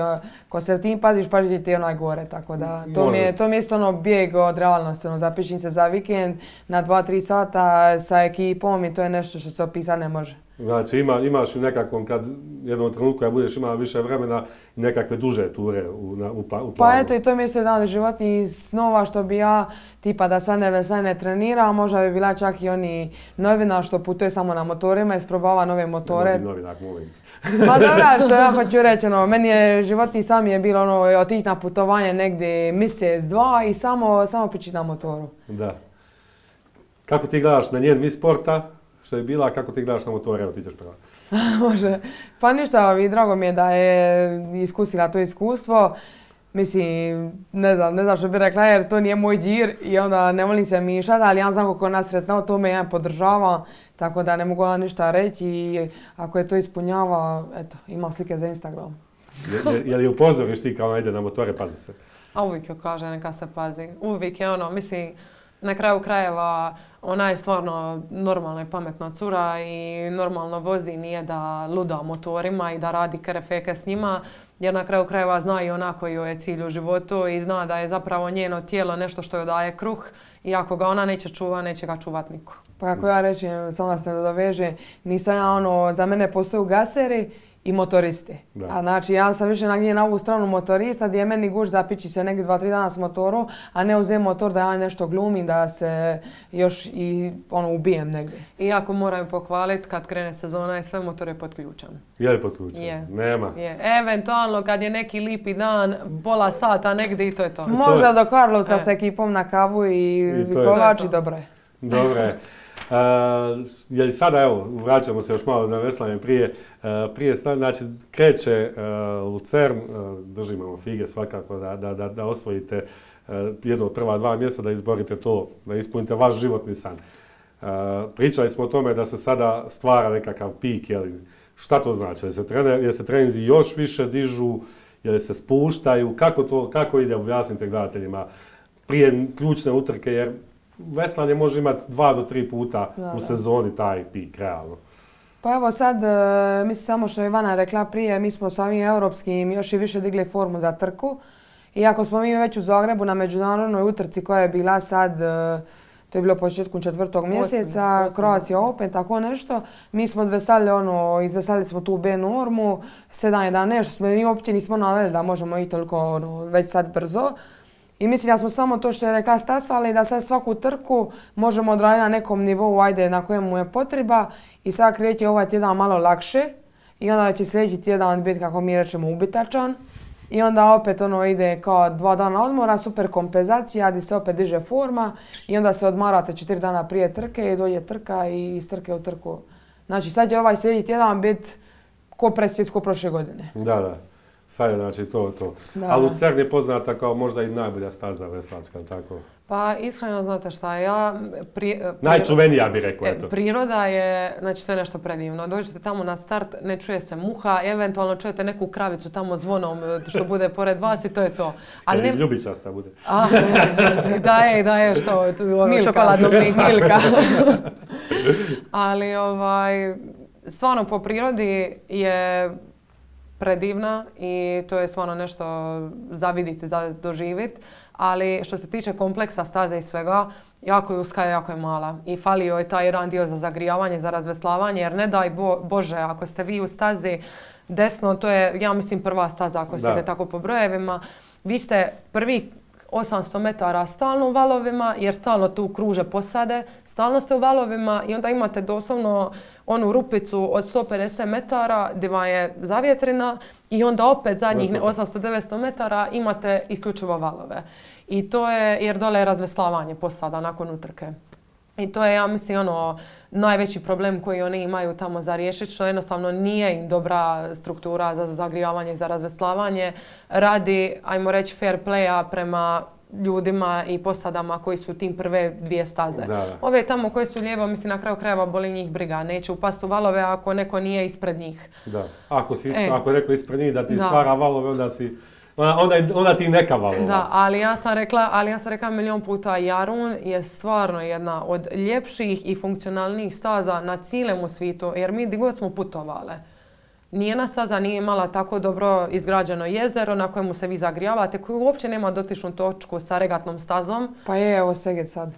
ko se tim paziš, pazit ti onaj gore, tako da to mi, je, to mi je isto ono bijeg od realnosti, ono, zapišim se za vikend na dva tri sata sa ekipom i to je nešto što se opisati ne može. Znači ima, imaš u nekakvom, kad jednom trenutku kad budeš imala više vremena, nekakve duže ture u, na, u, u planu. Pa eto i to mi je isto jedan od životnih snova što bi ja, tipa da sad ne vesla ne trenira, možda bi bila čak i oni novina što putuje samo na motorima i isprobava nove motore. Ne novinak, molim. Pa dobra, što ja hoću reći, ono, meni je životni sam je bilo ono, otići na putovanje negdje mjesec, dva i samo, samo pići na motoru. Da. Kako ti gledaš na njen Miss Sporta? Što je bila, kako ti gledaš na motore, evo ti ćeš prava. Može. Pa ništa, i drago mi je da je iskusila to iskustvo. Mislim, ne znam, ne znam što bi rekla jer to nije moj džir i onda ne volim se mišati, ali ja znam koliko nas sretnao, to me ja podržava, tako da ne mogu ja ništa reći i ako je to ispunjava, eto, ima slike za Instagram. Je, je, je li upozoriš ti kao ona ide na motore, pazi se? A uvijek joj kaže neka se pazi. Uvijek je ono, mislim, na kraju krajeva ona je stvarno normalna i pametna cura i normalno vozi, nije da luda motorima i da radi kerefeke s njima. Jer na kraju krajeva zna i ona koji joj je cilj u životu i zna da je zapravo njeno tijelo nešto što joj daje kruh i ako ga ona neće čuva, neće ga čuvat niko. Pa kako ja rečem, samo da se nadoveže, nisam ja ono, za mene postoju gaseri i motoristi. Da. A znači ja sam više nagnjen na ovu stranu motorista gdje je meni guš zapići se negdje dva, tri dana s motorom, a ne uzem motor da ja nešto glumim, da se još i ono ubijem negdje. Iako moram pohvaliti kad krene sezona i sve motor je pod ključem. Je li pod ključem? Je. Nema. Je. Eventualno kad je neki lipi dan, pola sata negdje i to je to. Možda do Karlovca e. s ekipom na kavu i, I kolači, dobro je. Dobro je. Uh, je li sada, evo, vraćamo se još malo na veslanje prije, uh, prije znači kreće uh, Lucern, uh, držimo fige svakako da, da, da, da osvojite uh, jedno od prva dva mjesta, da izborite to, da ispunite vaš životni san. Uh, pričali smo o tome da se sada stvara nekakav pik, jeli, šta to znači? Jel se, trener, jel se treninzi još više dižu, jel se spuštaju, kako to, kako ide, objasnite gledateljima prije ključne utrke, jer veslanje može imati dva do tri puta da, u sezoni taj pik, realno. Pa evo sad, mislim samo što je Ivana rekla prije, mi smo s ovim europskim još i više digli formu za trku. Iako smo mi već u Zagrebu na međunarodnoj utrci koja je bila sad, to je bilo početkom četvrtog mjeseca, Croatia Open, tako nešto. Mi smo odvesali ono, izvesali smo tu B normu, sedam jedanaest, smo mi uopće nismo naveli da možemo i toliko ono, već sad brzo. I mislim da smo samo to što je rekla stasali, da sad svaku trku možemo odraditi na nekom nivou, ajde, na kojemu je potreba. I sad kreće ovaj tjedan malo lakše i onda će sljedeći tjedan biti, kako mi rečemo, ubitačan. I onda opet ono ide kao dva dana odmora, super kompenzacija, gdje se opet diže forma i onda se odmarate četiri dana prije trke i dođe trka i iz trke u trku. Znači sad će ovaj sljedeći tjedan biti ko presvjetsko prošle godine. Da, da. Sad je znači to, to. Da. A Lucern je poznata kao možda i najbolja staza veslačka, tako? Pa iskreno znate šta, ja... Pri, pri, Najčuvenija bi rekao, eto. Priroda je, znači to je nešto predivno. Dođete tamo na start, ne čuje se muha, eventualno čujete neku kravicu tamo zvonom što bude pored vas i to je to. Ali ne... Ljubičasta bude. A, da je, da je, što, ono, čokoladnog Milka. Ali ovaj, stvarno po prirodi je predivna i to je stvarno nešto za vidjeti, za doživjeti. Ali što se tiče kompleksa staze i svega, jako je uska, jako je mala. I falio je taj jedan dio za zagrijavanje, za razveslavanje, jer ne daj bo, Bože, ako ste vi u stazi desno, to je, ja mislim, prva staza ako se ide tako po brojevima. Vi ste prvi osamsto metara stalno u valovima, jer stalno tu kruže posade, stalno ste u valovima i onda imate doslovno onu rupicu od sto pedeset metara gdje vam je zavjetrina i onda opet zadnjih osamsto do devetsto metara imate isključivo valove. I to je, jer dole je razveslavanje posada nakon utrke. I to je, ja mislim, ono, najveći problem koji oni imaju tamo za riješiti, što jednostavno nije im dobra struktura za zagrijavanje i za razveslavanje. Radi, ajmo reći, fair playa prema ljudima i posadama koji su tim prve dvije staze. Da, da. Ove tamo koje su lijevo, mislim, na kraju krajeva boli njih briga. Neće upasti u valove ako neko nije ispred njih. Da, ako, si ispred, e, ako je neko ispred njih da ti da. stvara valove, onda si... Onda, onda ti neka valova. Da, ali ja sam rekla, ali ja sam rekla milion puta, Jarun je stvarno jedna od ljepših i funkcionalnijih staza na cijelom svijetu, jer mi gdje smo putovale. Nijedna staza nije imala tako dobro izgrađeno jezero na kojemu se vi zagrijavate, koji uopće nema dotičnu točku sa regatnom stazom. Pa je, evo Seget sad.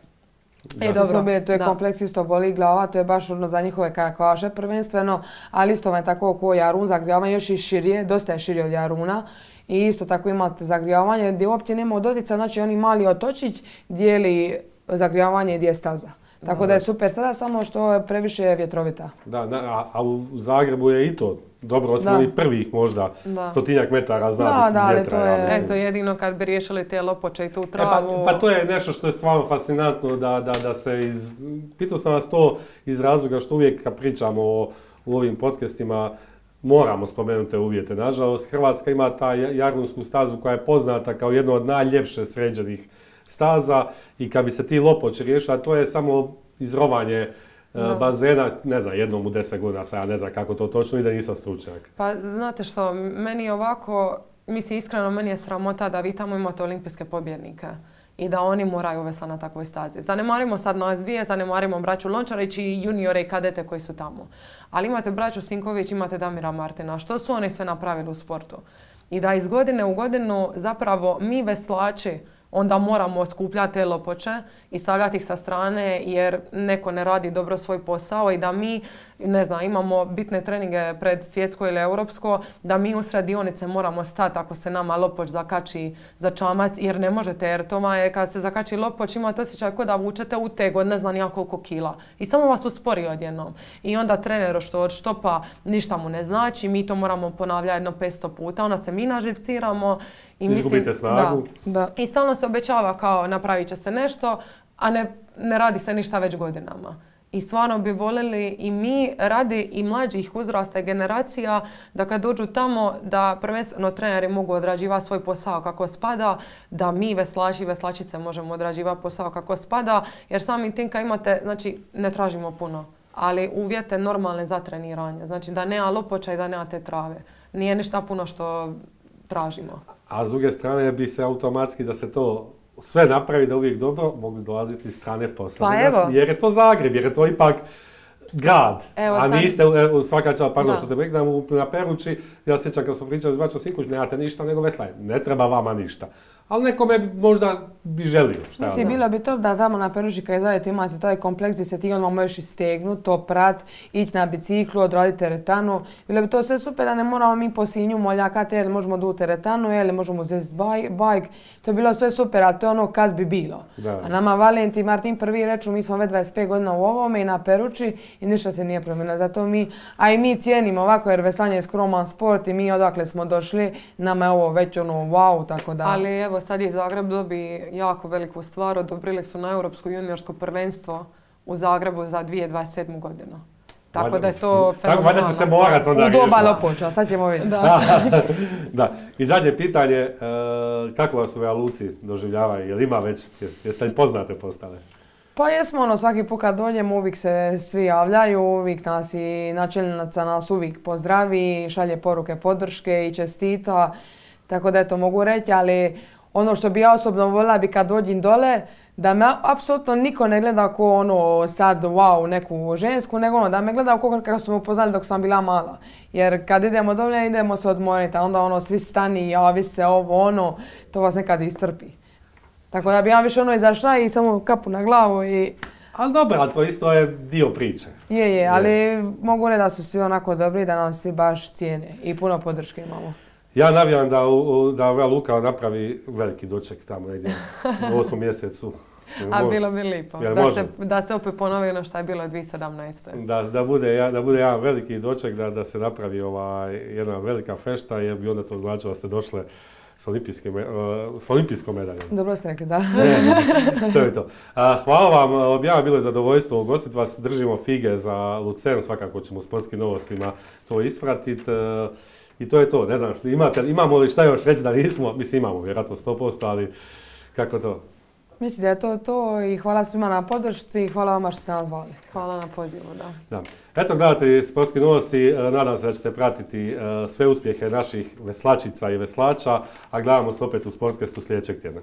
Da. E, dobro, bili, to je da. kompleks isto boli glava, to je baš ono za njihove kajakaše prvenstveno, ali isto vam tako ko Jarun, zagrijavanje još i širije, dosta je širije od Jaruna. I isto tako imate zagrijavanje gdje uopće nema dotica, znači oni mali otočić dijeli zagrijavanje gdje je staza. Tako da, da je super staza, samo što je previše vjetrovita. Da, a, a u Zagrebu je i to dobro, osim ovih prvih možda da. stotinjak metara zna da, biti da, vjetra. To je... Eto, jedino kad bi riješili te lopoče i tu travu... E, pa, pa to je nešto što je stvarno fascinantno da, da, da se iz... Pitao sam vas to iz razloga što uvijek kad pričamo o u ovim podcastima moramo spomenuti te uvjete. Nažalost, Hrvatska ima ta Jardunsku stazu koja je poznata kao jedna od najljepše sređenih staza i kad bi se ti Lopoči riješila, to je samo izrovanje no. bazena, ne znam, jednom u deset godina, sad ja ne znam kako to točno ide, nisam stručnjak. Pa znate što, meni je ovako, mislim iskreno, meni je sramota da vi tamo imate olimpijske pobjednike i da oni moraju vesati na takvoj stazi. Zanemarimo sad nas dvije, zanemarimo braću Lončarić i juniore i kadete koji su tamo. Ali imate braću Sinković, imate Damira Martina. Što su oni sve napravili u sportu? I da iz godine u godinu zapravo mi veslači onda moramo skupljati te lopoče i stavljati ih sa strane jer neko ne radi dobro svoj posao i da mi, ne znam, imamo bitne treninge pred svjetsko ili europsko, da mi usred dionice moramo stati ako se nama lopoč zakači za čamac jer ne možete, jer to je kad se zakači lopoč imate osjećaj kao da vučete uteg od ne znam ja koliko kila i samo vas uspori odjednom. I onda trener što od štopa ništa mu ne znači, mi to moramo ponavljati jedno petsto puta, onda se mi naživciramo. I izgubite mislim, snagu. Da, da. I stalno se obećava kao napravit će se nešto, a ne, ne radi se ništa već godinama. I stvarno bi voljeli i mi radi i mlađih uzrasta i generacija da kad dođu tamo da prvenstveno treneri mogu odrađivati svoj posao kako spada, da mi veslači i veslačice možemo odrađivati posao kako spada, jer samim tim kad imate, znači ne tražimo puno, ali uvjete normalne za treniranje. Znači da nema lopoča i da nema te trave. Nije ništa puno što tražimo. A s druge strane bi se automatski da se to sve napravi da uvijek dobro mogli dolaziti iz strane posla. Pa evo. Jer je to Zagreb, jer je to ipak grad. Evo, a sad... niste, svaka čast, pardon što te prekidam, na Peruči, ja sjećam kad smo pričali s braćom Sinković, nemate ništa nego veslanje. Ne treba vama ništa. Ali nekome možda bi želio. Mislim, bilo bi to da tamo na Peruči kad izradite imate taj kompleks gdje se ti odmah možeš istegnuti, to prat, ići na biciklu, odraditi teretanu. Bilo bi to sve super da ne moramo mi po Sinju moljakati, jer možemo du teretanu, ili možemo uzeti bajk. To je bilo sve super, ali to je ono kad bi bilo. Da. A nama Valentin i Martin prvi reču, mi smo već dvadeset pet godina u ovome i na Peruči i ništa se nije promijenilo. Zato mi, a i mi cijenimo ovako jer veslanje je skroman sport i mi odakle smo došli, nama je ovo već ono wow, tako da. Ali evo sad je Zagreb dobi jako veliku stvar, odobrili su na Europsko juniorsko prvenstvo u Zagrebu za dvije tisuće dvadeset sedmu godinu. Tako Valjda, da je to fenomenalna Valjda će se morat onda u doba Lopoča, sad ćemo vidjeti. Da. Da. I zadnje pitanje, kako vas u Luci doživljavaju? Jel ima već, jeste li poznate postale? Pa jesmo, ono, svaki put kad dođemo uvijek se svi javljaju, uvijek nas i načelnica nas uvijek pozdravi, šalje poruke podrške i čestita, tako da eto mogu reći, ali ono što bi ja osobno voljela bi kad dođem dole, da me apsolutno niko ne gleda ko ono sad wow neku žensku, nego ono da me gleda kako smo upoznali dok sam bila mala. Jer kad idemo dole idemo se odmoriti, a onda ono svi stani, javi se ovo ono, to vas nekad iscrpi. Tako da bi ja više ono izašla i samo kapu na glavu i... Ali dobro, ali to isto je dio priče. Je, je, ali je. Mogu reći da su svi onako dobri, da nas svi baš cijene i puno podrške imamo. Ja navijam da, u, da ova Luka napravi veliki doček tamo negdje u osmom mjesecu. A bilo bi lijepo, da se, da se opet ponovi ono što je bilo dvije tisuće sedamnaeste. Da, da, bude, da bude jedan veliki doček, da, da se napravi ovaj, jedna velika fešta, jer bi onda to značilo da ste došle s, uh, s olimpijskom medaljom. Dobro ste rekli, da. To je to. A, hvala vam, objava bilo je zadovoljstvo ugostiti vas, držimo fige za Lucern, svakako ćemo u sportskim novostima to ispratiti. Uh, I to je to, ne znam, imate, imamo li šta još reći da nismo, mislim imamo vjerojatno sto posto, ali kako to? Mislim da je to to i hvala svima na podršci i hvala vama što ste nas zvali. Hvala na pozivu, da. da. Eto, gledate sportske novosti, nadam se da ćete pratiti sve uspjehe naših veslačica i veslača, a gledamo se opet u Sportcastu sljedećeg tjedna.